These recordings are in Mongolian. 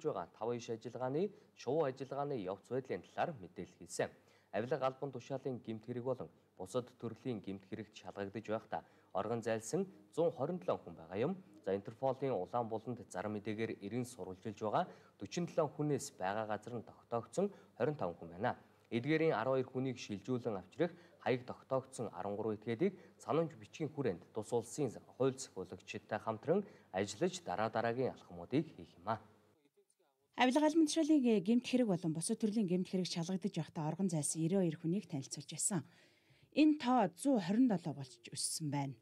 байгаа 5 иш ажиллагааны шувуу ажиллагааны явц байдлын талаар мэдээлэл хийсэн. Авилга албан тушаалын гэмт хэрэг болон бусад төрлийн гэмт хэрэгт шалгагдж байхдаа оргон зайлсан 127 хүн байгаа юм. За Интерполийн Улаанбууланд зар мэдээгээр 90 сурвалжилж байгаа 47 хүнээс байгаа газар нь тогтоогдсон 25 хүн байна. Эдгээрийн 12 хүнийг шилжүүлэн авчрах хаяг тогтоогдсон 13 этгээдийг санамж бичгийн хүрээнд тус улсын хууль захиулагчдтай хамтран ажиллаж дараагийн алхмуудыг хийх юм а. Авилга албан тушаалын гэмт хэрэг болон бусад төрлийн гэмт хэрэг шалгагдж байхдаа оргон зайлсан 92 хүнийг танилцуулж байсан. Энэ тоо 127 болж өссөн байна.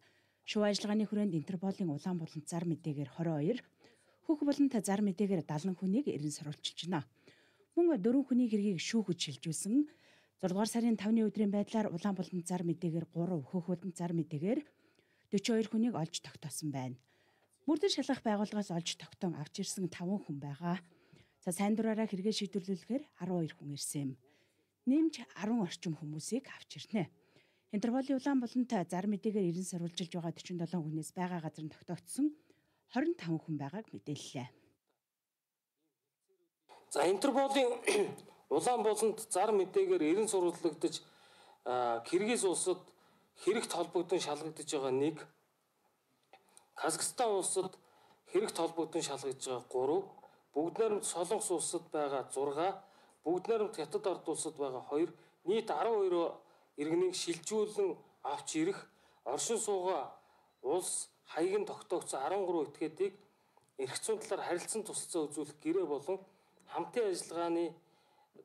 Шувуу ажиллагааны хүрээнд Интерполийн Улаанбууланд зар мэдээгээр 22, Хөх болонт зар мэдээгээр 70 хүнийг эрен сурвалжилж байна. Мөн 4 хүний хэргийг шүүхэж шилжүүлсэн. 6 дугаар сарын 5-ны өдрийн байдлаар Улаанбууланд зар мэдээгээр 3, Хөх болонт зар мэдээгээр 42 хүнийг олж тогтоосон байна. Мөрдөн шалгах байгууллагаас олж тогтоон авч ирсэн 5 хүн байгаа. За сайн дураараа хэрэгээ шийдвэрлүүлэхээр 12 хүн ирсэн юм. Нэмж 10 орчим хүмүүсийг авч ирнэ. Интерполийн Улаанбууланд зар мэдээгээр 90 сурвалжилж байгаа 47 хүнээс байгаа газар нь тогтоогдсон 25 хүн байгааг мэдээллээ. За Интерполийн Улаанбууланд зар мэдээгээр 90 сурвалжлагдаж Киргиз улсад хэрэгт холбогдсон шалгагдж байгаа 1, Казахстан улсад хэрэгт холбогдсон шалгагдж байгаа 3, бүгд найрамд Солонгос улсад байгаа 6, бүгд найрамд Хятад ард улсад байгаа 2, нийт 12 иргэнийг шилжүүлэн авч ирэх оршин суугаа улс хаяг нь тогтоогдсон 13 этгээдийг эрх зүйн талаар харилцан тусалцаа үзүүлэх гэрээ болон хамтын ажиллагааны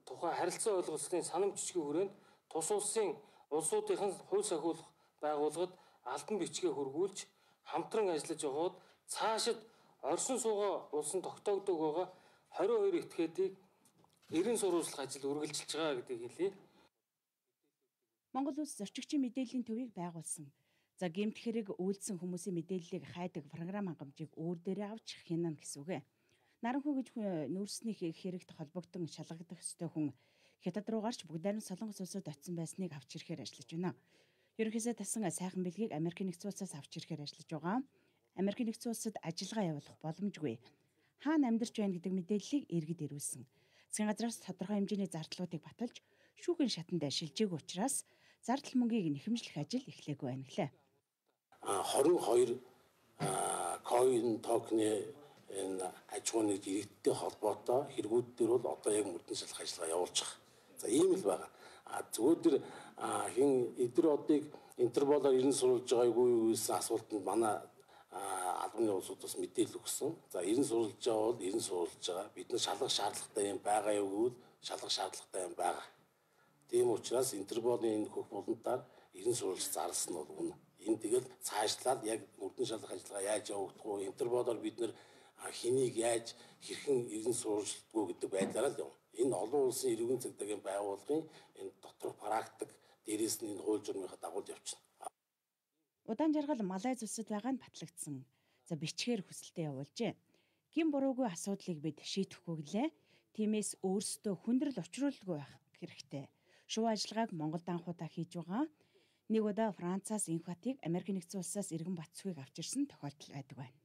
тухай харилцаа ойлголцлын санамж бичгийн хүрээнд тус улсын улсуудын хууль сахиулах байгууллагад албан бичгээ хөргүүлж хамтран ажиллаж байгаад цаашид оршин суугаа улсын тогтоогдог байгаа 22 этгээдийг 90 сурвалжлах ажил үргэлжилж байгаа гэдгийг хэлье. Монгол улс зорчигчийн мэдээллийн төвийг байгуулсан. За гэмт хэрэг үйлдсэн хүмүүсийн мэдээллийг хайдаг програм хангамжийг өөр дээрээ авч хянана гэсэн үг. Наранхуу гэж нүүрсний хэрэгт холбогдсон шалгагдах ёстой хүн Хятад руу гарч бүгд найрамд Солонгос улсад очсон байсныг авч ирэхээр ажиллаж байна. Ерөнхийдөө тасан сайхан бэлгийг Америк нэгдсэн улсаас авч ирэхээр ажиллаж байгаа. Америк нэгдсэн улсад ажиллагаа явуулах боломжгүй. Хаана амьдарч байна гэдэг мэдээллийг иргэд ирүүлсэн. Засгийн газраас тодорхой хэмжээний зардлуудыг баталж шүүхийн шатанд шилжээг учраас зардал мөнгийг нэхэмжлэх ажил эхлэегүй байна гэлээ. 22 coin token энэ аж ахуйн иргэдтэй холбоотой хэрэгүүд дээр бол одоо яг мөрдөн шалгах ажиллагаа явуулж байгаа. За ийм л байгаа. Зүгээр хин эдгээр одыг Интерполоор 90 сурвалж байгаагүй гэсэн асуултанд манай албаны улсуудаас мэдээлэл өгсөн. За 90 сурвалж байгаа бол 90 сурвалж байгаа. Бид нар шалгах шаардлагатай юм байгаа юу гэвэл шалгах шаардлагатай юм байгаа. Тийм учраас Интерполийн энэ хөх болонтаар 90 сурвалж зарласан нь бол үнэ. Энэ тэгэл цаашлаад яг мөрдөн шалгах ажиллагаа яаж явагдах вэ? Интерполоор бид нар хэнийг яаж хэрхэн 90 сурвалжлдгүү гэдэг байдлаараа л явна. Энэ олон улсын иргэн цэгдэгийн байгууллагын энэ доторх практик дээрээс нь энэ хууль журмынхаа дагуу явчихна. Удаан жаргал Малайз улсад байгаа нь батлагдсан. За бичгээр хүсэлтэд явуулжээ. Гин буруугүй асуудлыг бид шийдэхгүй гэлээ. Тиймээс өөрсдөө хүндрэл учруулдаггүй байх хэрэгтэй. Шувуу ажиллагааг Монголд анхудаа хийж байгаа. Нэг удаа Францаас энх батыг Америк нэгдсэн улсаас иргэн Батцхуйг авчирсан тохиолдол байдаг байна.